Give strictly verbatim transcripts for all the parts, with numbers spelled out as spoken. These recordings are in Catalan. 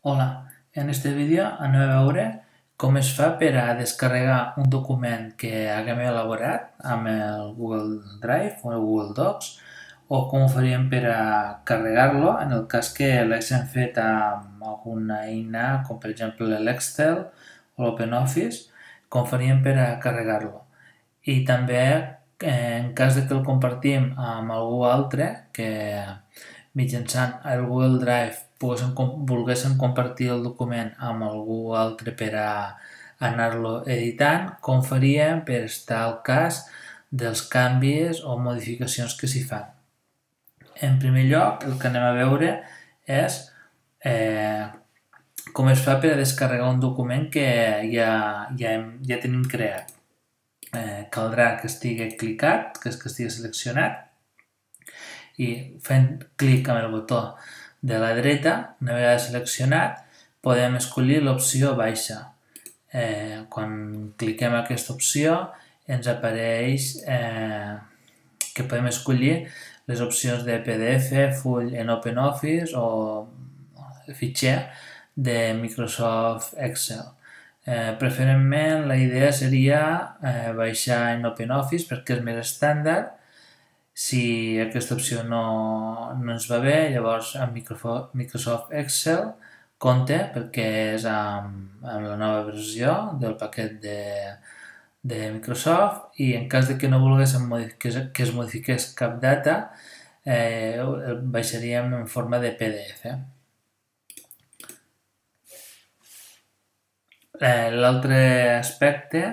Hola, en este vídeo anem a veure com es fa per a descarregar un document que haguem elaborat amb el Google Drive o el Google Docs o com ho faríem per a carregar-lo en el cas que l'haguéssim fet amb alguna eina com per exemple l'Excel o l'OpenOffice, com faríem per a carregar-lo. I també en cas de que el compartim amb algú altre que mitjançant el Google Drive poguéssim, volguéssim compartir el document amb algú altre per a anar-lo editant, com faríem per estar al cas dels canvis o modificacions que s'hi fan. En primer lloc, el que anem a veure és eh, com es fa per a descarregar un document que ja, ja, hem, ja tenim creat. Eh, caldrà que estigui clicat, que, és que estigui seleccionat, i fent clic amb el botó de la dreta, una vegada seleccionat, podem escollir l'opció baixa. Eh, quan cliquem aquesta opció ens apareix eh, que podem escollir les opcions de P D F, full en OpenOffice o fitxer de Microsoft Excel. Eh, preferentment la idea seria eh, baixar en OpenOffice perquè és més estàndard. Si aquesta opció no, no ens va bé, llavors amb Microsoft Excel compte perquè és amb, amb la nova versió del paquet de, de Microsoft i en cas de que no volguéssim que es, que es modifiqués cap data, eh, el baixaríem en forma de P D F. Eh, L'altre aspecte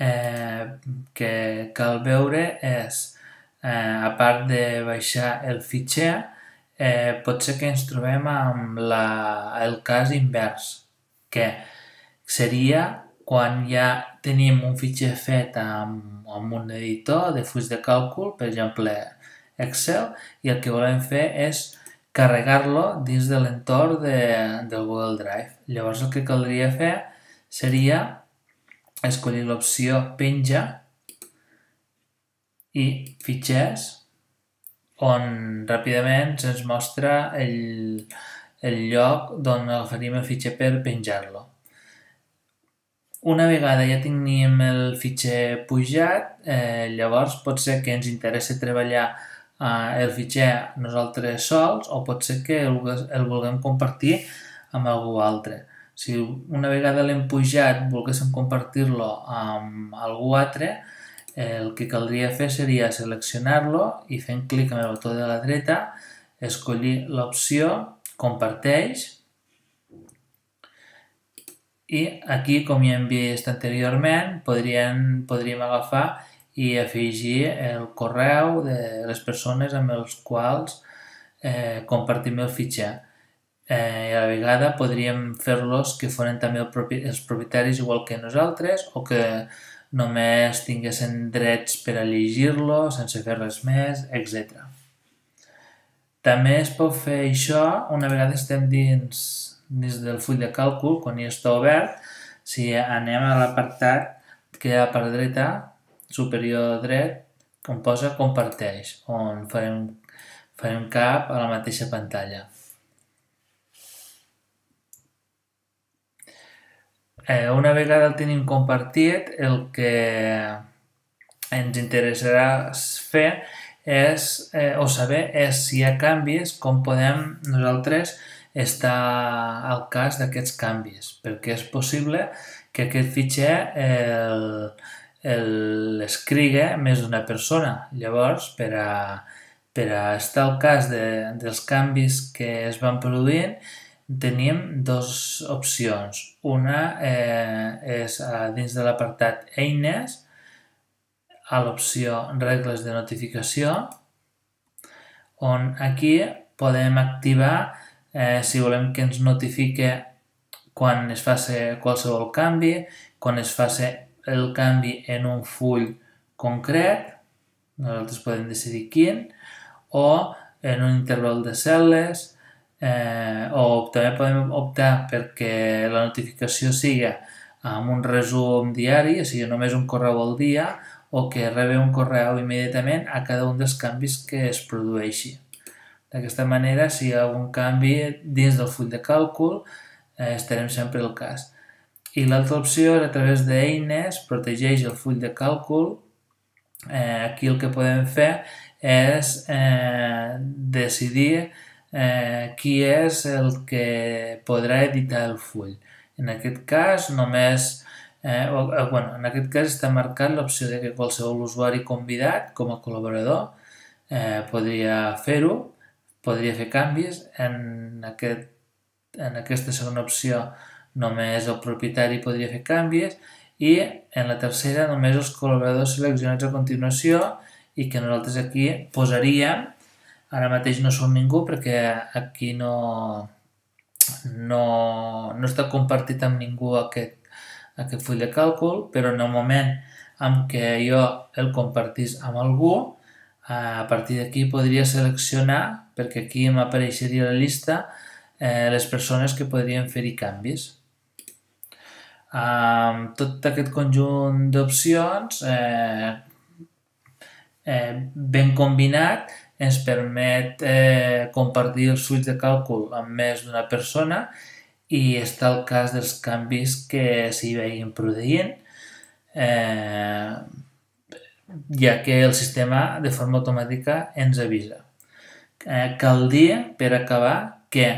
eh, que cal veure és Eh, a part de baixar el fitxer, eh, pot ser que ens trobem amb la, el cas invers, que seria quan ja tenim un fitxer fet amb, amb un editor de fulls de càlcul, per exemple Excel, i el que volem fer és carregar-lo dins de l'entorn de, del Google Drive. Llavors el que caldria fer seria escollir l'opció penja i fitxers, on ràpidament se'ns mostra el, el lloc d'on agafaríem el fitxer per penjar-lo. Una vegada ja tenim el fitxer pujat, eh, llavors pot ser que ens interessa treballar eh, el fitxer nosaltres sols o pot ser que el, el vulguem compartir amb algú altre. Si una vegada l'hem pujat volguéssim compartir-lo amb algú altre, el que caldria fer seria seleccionar-lo i fent clic amb el botó de la dreta escollir l'opció comparteix i aquí, com ja hem vist anteriorment, podríem, podríem agafar i afegir el correu de les persones amb els quals eh, compartim el fitxer. Eh, a la vegada podríem fer-los que foren també el propi, els propietaris igual que nosaltres o que només tinguessin drets per a llegir-lo sense fer res més, etcètera. També es pot fer això una vegada estem dins, dins del full de càlcul, quan ja està obert, si anem a l'apartat que hi ha per dreta, superior dret, on posa comparteix, on farem, farem cap a la mateixa pantalla. Eh, una vegada el tenim compartit, el que ens interessarà fer és, eh, o saber és si hi ha canvis, com podem nosaltres estar al cas d'aquests canvis, perquè és possible que aquest fitxer l'escrigui més d'una persona. Llavors, per a, per a estar al cas de, dels canvis que es van produint, tenim dues opcions. Una eh, és dins de l'apartat Eines, a l'opció Regles de notificació, on aquí podem activar eh, si volem que ens notifique quan es faci qualsevol canvi, quan es faci el canvi en un full concret, nosaltres podem decidir quin, o en un interval de cel·les, Eh, o també podem optar perquè la notificació sigui amb un resum diari, o sigui, només un correu al dia, o que rebi un correu immediatament a cada un dels canvis que es produeixi. D'aquesta manera, si hi ha algun canvi dins del full de càlcul, eh, estarem sempre al cas. I l'altra opció és a través d'eines, protegeix el full de càlcul. Eh, aquí el que podem fer és eh, decidir eh, qui és el que podrà editar el full. En aquest cas només eh, o, eh, bueno, en aquest cas està marcat l'opció de que qualsevol usuari convidat com a col·laborador eh, podria fer-ho, podria fer canvis. En, aquest, en aquesta segona opció només el propietari podria fer canvis i en la tercera només els col·laboradors seleccionats a continuació i que nosaltres aquí posaríem, ara mateix no som ningú perquè aquí no, no, no està compartit amb ningú aquest, aquest full de càlcul, però en el moment en què jo el compartís amb algú, a partir d'aquí podria seleccionar, perquè aquí m'apareixeria la llista, eh, les persones que podrien fer-hi canvis. Amb tot aquest conjunt d'opcions eh, eh, ben combinat ens permet eh, compartir els fulls de càlcul amb més d'una persona i està el cas dels canvis que s'hi vagin produint, eh, ja que el sistema de forma automàtica ens avisa. Eh, cal dir, per acabar, que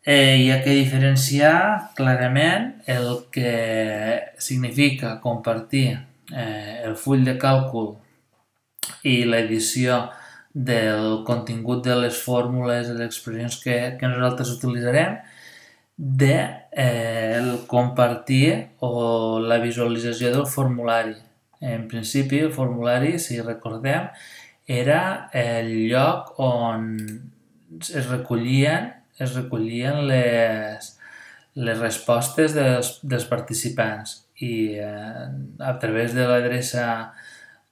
eh, hi ha que diferenciar clarament el que significa compartir eh, el full de càlcul i l'edició del contingut de les fórmules i les expressions que, que nosaltres utilitzarem de eh, el compartir o la visualització del formulari. En principi, el formulari, si recordem, era el lloc on es recollien, es recollien les, les respostes dels, dels participants i eh, a través de l'adreça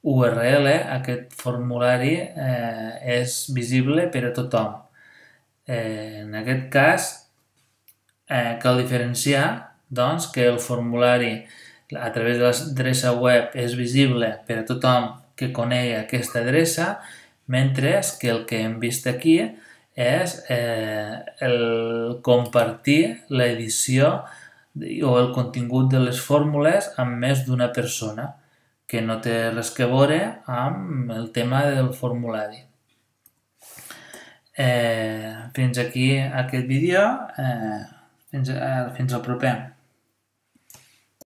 U R L aquest formulari eh, és visible per a tothom. Eh, en aquest cas eh, cal diferenciar doncs, que el formulari a través de l'adreça web és visible per a tothom que conegui aquesta adreça, mentre que el que hem vist aquí és eh, el compartir l'edició o el contingut de les fórmules amb més d'una persona, que no té res a veure amb el tema del formulari. Eh, fins aquí aquest vídeo, eh, fins, eh, fins al proper.